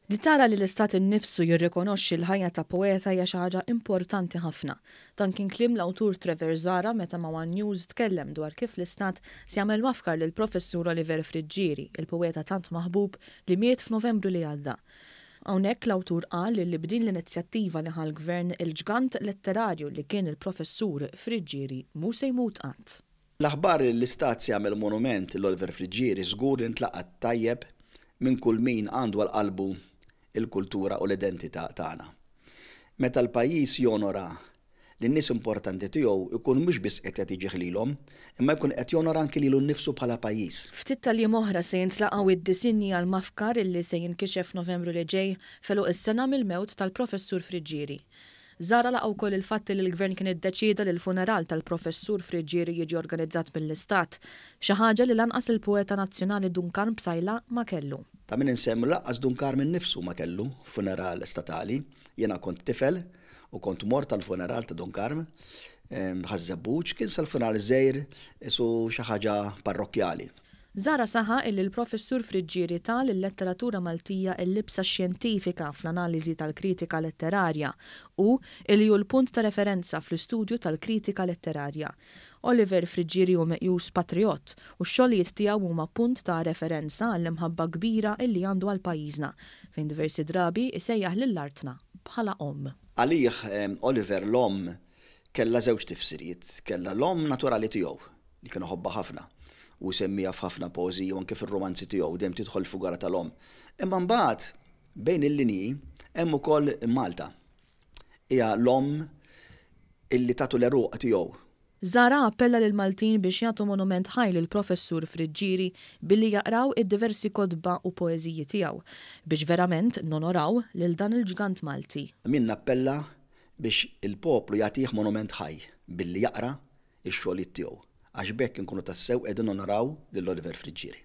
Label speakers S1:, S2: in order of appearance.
S1: Li tara li l-Istat innifsu jirrikonoxxi l-ħajja ta' poeta hija xi ħaġa importanti ħafna. Dan kien kliem l-awtur Trevor Zahra meta ma' one News tkellem dwar kif l-Istat se jagħmel mafkar lill-Professur Oliver Friggieri, il-poeta tant maħbub li miet f'Novembru li għadda. Hawnhekk l-awtur qal li b'din l-inizjattiva li ħa l-Gvern, il-ġgant letterarju li kien il-Professur Friggieri mhu se jmut qatt.
S2: L-aħbar li l-Istat se jagħmel monument lil Oliver Friggieri żgur li ntlaqgħet tajjeb minn kull min għandu għal qalbu l-kultura u l-identità tagħna. Meta l-pajjiż jonora lin-nies importanti tiegħu jkun mhux biss qed jagħti ġieħ lilhom, imma jkun qed jonora anki lilu nnifsu bħala pajjiż.
S1: Ftit tal-jiem oħra se jintlaqgħu id-disinji għall-mafkar illi se jinkixef f'Novembru li ġej, f'għeluq is-sena mill-mewt tal-Professur Friggieri. Zahra laqa' wkoll il-fatt li l-Gvern kien iddeċieda li l-funeral tal-Professur Friggieri jiġi organizzat mill-Istat, xi ħaġa li lanqas il-poeta nazzjonali Dun Karm Psaila ma kellu.
S2: Ta' min insemmu li lanqas Dun Karm innifsu ma kellu funeral statali. Jiena kont tifel u kont mort għall-funeral ta' Dun Karm Ħaż-Żebbuġ, kien sar funeral żgħir qisu xi ħaġa parrokkjali.
S1: Zahra saħaq illi l-Professur Friggieri ta lil-letteratura Maltija l-libsa xjentifika fl-analiżi tal-kritika letterarja u illi hu l-punt ta' referenza fl-istudju tal-kritika letterarja. Oliver Friggieri hu meqjus patrijott u x-xogħlijiet tiegħu huma punt ta' referenza għall-imħabba kbira illi għandu għal pajjiżna, fejn diversi drabi jsejjaħ lil artna bħala omm.
S2: Għalih Oliver l-omm kellha żewġ tifsiriet, kellha l-omm naturali tiegħu, li kien iħobbha ħafna u jsemmiha f'ħafna poeżiji u anke fir-rumanzi tiegħu dejjem tidħol il-figura tal-omm. Imma mbagħad bejn il-linji hemm ukoll Malta. Hija l-omm illi tatu l-għeruq tiegħu.
S1: Zahra appella lill-Maltin biex jagħtu monument ħaj lill-Professur Friggieri billi jaqraw id-diversi kotba u poeżiji tiegħu biex verament nonoraw lil dan il-ġgant Malti.
S2: Min nappella biex il-poplu jagħtih monument ħaj billi jaqra ix-xogħlijiet tiegħu, għax b'hekk inkunu tassew qegħdin nonoraw lil Oliver Friggieri.